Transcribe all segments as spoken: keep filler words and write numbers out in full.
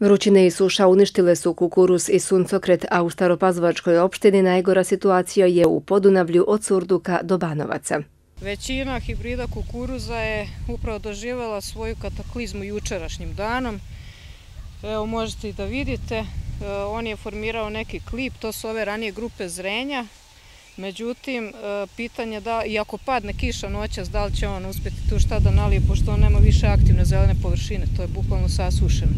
Vrućine i suša uništile su kukuruz i suncokret, a u Staropazovačkoj opštini najgora situacija je u Podunavlju od Surduka do Banovaca. Većina hibrida kukuruza je upravo doživjela svoju kataklizmu jučerašnjim danom. Evo možete i da vidite, on je formirao neki klip, to su ove ranije grupe zrenja. Međutim, pitanje da, i ako padne kiša noćas, da li će on uspjeti tu šta da nalije, pošto on nema više aktivne zelene površine, to je bukvalno sasušeno.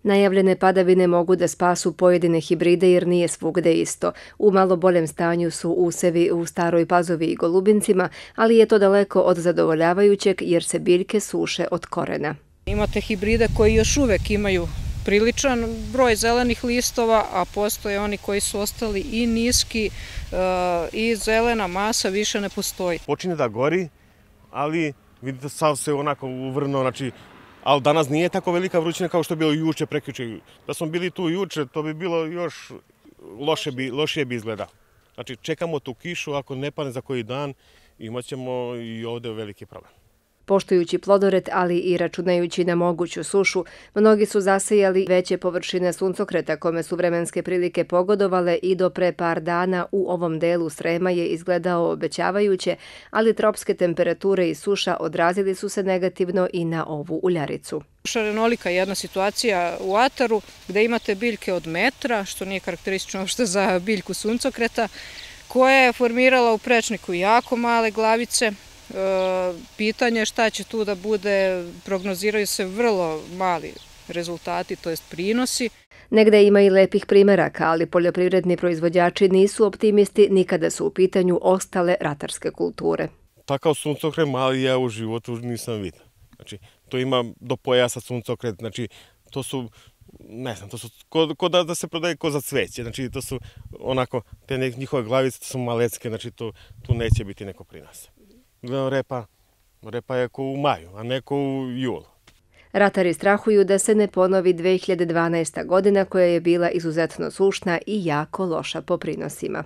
Najavljene padavine mogu da spasu pojedine hibride jer nije svugde isto. U malo boljem stanju su usevi u Staroj Pazovi i Golubincima, ali je to daleko od zadovoljavajućeg jer se biljke suše od korena. Imate hibride koji još uvek imaju priličan broj zelenih listova, a postoje oni koji su ostali i niski i zelena masa više ne postoji. Počinje da gori, ali vidite sav se onako uvrno, znači, ali danas nije tako velika vrućina kao što je bilo juče, prekjuče. Da smo bili tu juče, to bi bilo još loše bi, lošije bi izgleda. Znači, čekamo tu kišu, ako ne padne za koji dan, imat ćemo i ovde veliki problem. Poštujući plodoret, ali i računajući na moguću sušu, mnogi su zasejali veće površine suncokreta kome su vremenske prilike pogodovale i do pre par dana u ovom delu Srema je izgledao obećavajuće, ali tropske temperature i suša odrazili su se negativno i na ovu uljaricu. Šarenolika je jedna situacija u ataru gde imate biljke od metra, što nije karakteristično uopšte za biljku suncokreta, koja je formirala u prečniku jako male glavice. Pitanje šta će tu da bude, prognoziraju se vrlo mali rezultati, to jest prinosi. Negde ima i lepih primeraka, ali poljoprivredni proizvođači nisu optimisti ni kada su u pitanju ostale ratarske kulture. Takav suncokret mali ja u životu nisam vidio. Znači, to ima do pojasa suncokret, znači, to su, ne znam, to su ko da se prodaje ko za cveće, znači, to su onako, te njihove glavice, to su malecke, znači, tu neće biti neko prinosa. Repa, repa je ko u maju, a ne ko u julu. Ratari strahuju da se ne ponovi dve hiljade dvanaesta godina koja je bila izuzetno sušna i jako loša po prinosima.